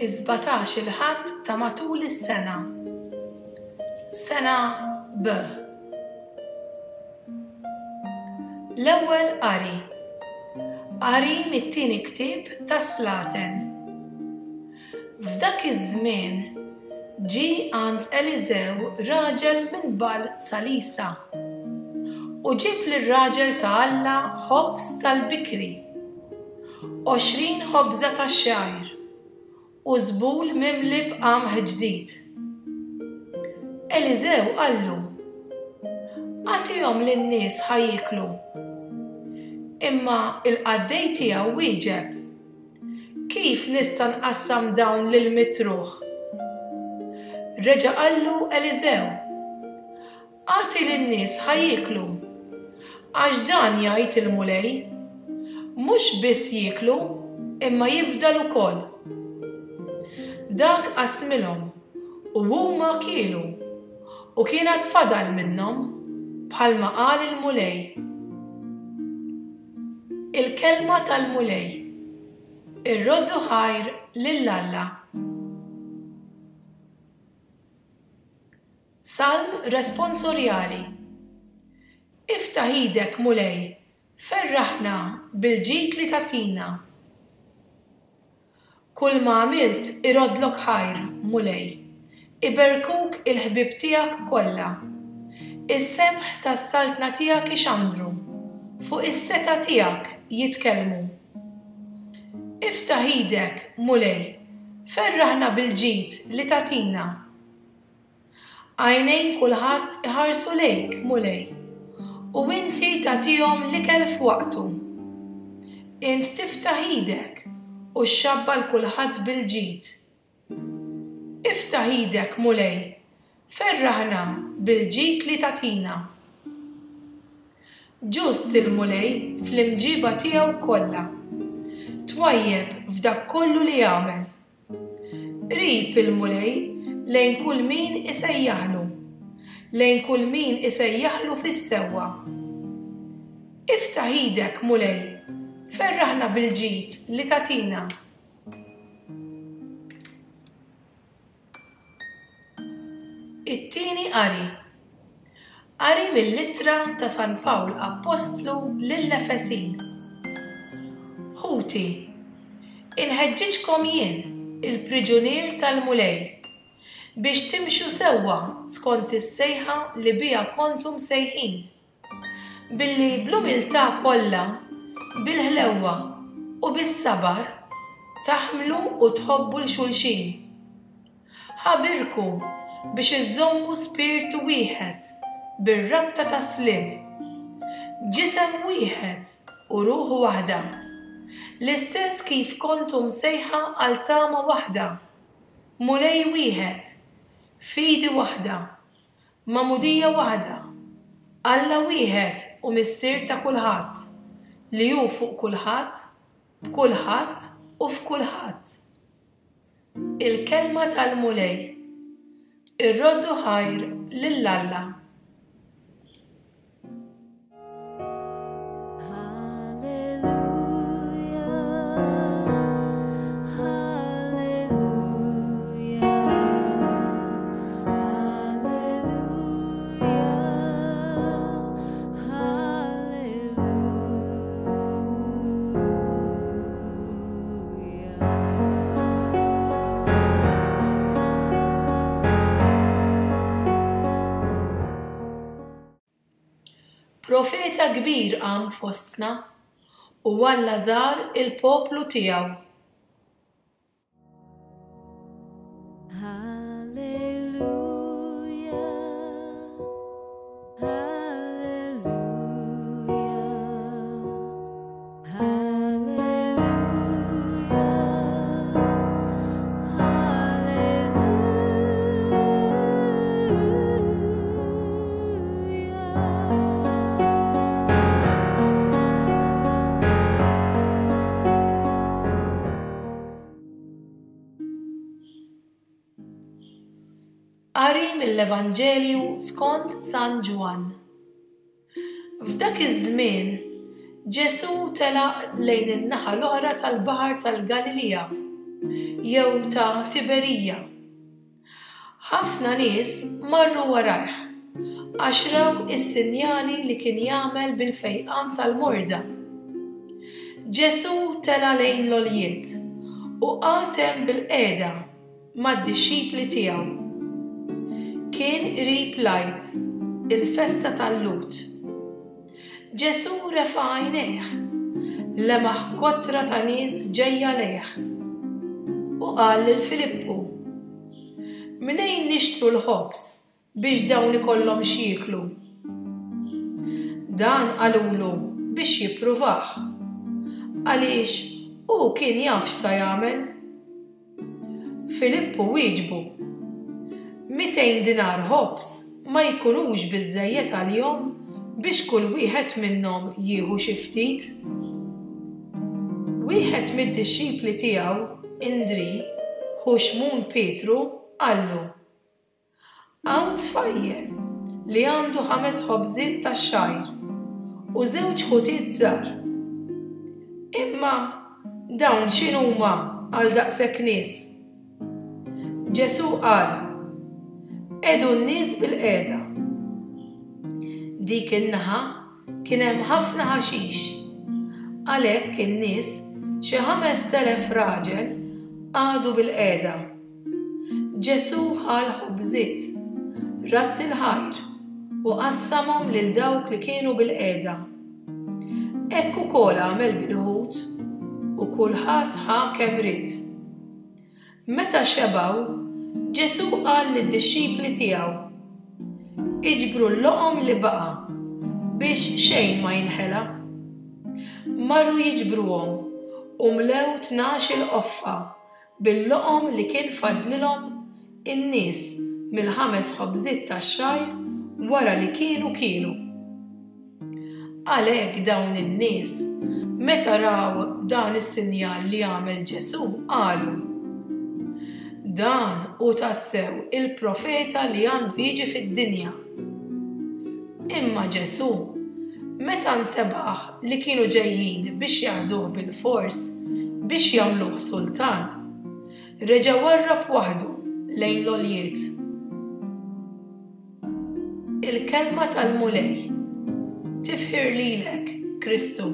Is-17 il-Ħadd ta' matul is-sena. Sena B. L-ewwel qari. Qari mit-tieni ktieb tas-Slaten. F'dak iż-żmien ġie għand Eliżew raġel minn Bagħal Salisa, u ġieb lir-raġel ta' Alla ħobż tal-bikri, 20 ħobża tax-xgħir, u żbul mimli b'qamħ ġdid. Eliżew qallu, Agħtihom lin-nies ħa jieklu. Imma l-qaddej tiegħu wieġeb, Kif nista' nqassam dawn lil mitruħ? Reġa' qallu Eliżew, Agħti lin-nies ħa jieklu, għax dan jgħid il-Mulej, 'Mhux biss jieklu, imma jifdal ukoll. Dak qassmilhom, u huma kielu, u kien għad fadal minnhom, bħalma qal il-Mulej. Il-Kelma tal-Mulej. Irroddu ħajr lil Alla. Salm Responsorjali Iftaħ idek, Mulej, ferraħna bil-ġid li tagħtina. Kulma għamilt iroddlok ħajr, Mulej, iberkuk il-ħbieb tiegħek kollha. Is-sebħ tas-saltna tiegħek ixandru, fuq is-setgħa tiegħek jitkellmu. Iftaħ idek, Mulej, ferraħna bil-ġid li tagħtina. Għajnejn kulħadd iħarsu lejk, Mulej, u inti tagħtihom l-ikel f'waqtu. Int tiftaħ idek u xxabba' 'l kulħadd bil-ġid. Iftaħ idek, Mulej, ferraħna bil-ġid li tagħtina. Ġust il-Mulej fl-imġiba tiegħu kollha, twajjeb f'dak kollu li jagħmel. Qrib il-Mulej lejn kull min isejjaħlu, lejn kull min isejjaħlu fis-sewwa. Iftaħ idek, Mulej, ferraħna bil-ġid li tagħtina. It-tieni qari. Qari mill-Ittra ta' San Pawl Appostlu lill-Efesin. Ħuti, inħeġġiġkom jien, il-priġunier tal-Mulej, biex timxu sewwa skont is-sejħa li biha kontu msejħin. Billi bl-umiltà kollha, bil-ħlewwa u bis-sabar taħmlu u tħobbu 'l xulxin. Ħabirku biex iżżommu spirtu wieħed bir-rabta tas-sliem, ġisem wieħed u ruħ waħda, l-istess kif kontu msejħa għal tama waħda, Mulej wieħed, fidi waħda, Magħmudija waħda, Alla wieħed u Missier ta' kulħadd, li hu fuq kulħadd, b'kulħadd u f'kulħadd. Il-Kelma tal-Mulej. Irroddu ħajr lil Alla. Profeta kbir qam fostna, u Alla żar il-poplu tiegħu. Qari mill-Evanġelju skont San Ġwann. F'dak iż-żmien, Ġesù telaq lejn in-naħa l-oħra tal-Baħar tal-Galilija, jew ta' Tiberija. Ħafna nies marru warajh għax raw is-sinjali li kien jagħmel bil-fejqan tal-morda. Ġesù tela' lejn l-għoljiet u qagħad hemm bilqiegħda mad-dixxipli tiegħu. Kien qrib l-Għid, il-festa tal-Lhud. Ġesù refa' għajnejh, lemaħ kotra ta' nies ġejja lejh, u qal lil Filippu, Mnejn nixtru l-ħobż biex dawn ikollhom x'jieklu? Dan qalulu biex jippruvah, għaliex hu kien jaf x'sa jagħmel. Filippu wieġbu, 200 dinar ħobż ma jkunux biżżejjed għalihom biex kull wieħed minnhom jieħu xi ftit. Wieħed mid-dixxipli tiegħu, Indrì, ħu Xmun Pietru, qallu, Hawn tfajjel li għandu ħames ħobżiet tax-xgħir u żewġ ħutiet żgħar. Imma dawn x'inhuma għal daqshekk nies? Ġesù qal, Qegħdu n-nies bilqiegħda. Dik in-naħa kien hemm ħafna ħaxix. Għalhekk in-nies, xi 5000 raġel, qagħdu bilqiegħda. Ġesù ħa l-ħobżiet, radd il-ħajr, u qassamhom lil dawk li kienu bilqiegħda. Hekk ukoll għamel bil-ħut, u kulħadd ħa kemm ried. Meta xebgħu, Ġesù qal lid-dixxipli tiegħu, Iġbru l-loqom li baqa' biex xejn ma jinħela. Marru jiġbruhom u mlew 12-il qoffa bil-loqom li kien fadlilhom in-nies mill-ħames ħobżiet tax-xgħir wara li kienu kielu. Għalhekk dawn in-nies, meta raw dan is-sinjal li għamel Ġesù, qalu, Dan hu tassew il-profeta li għandu jiġi fid-dinja. Imma Ġesù, meta ntebaħ li kienu ġejjin biex jaħduh bilfors biex jagħmluh sultan, reġa' warrab waħdu lejn l-għoljiet. Il-Kelma tal-Mulej. Tifħir lilek, Kristu.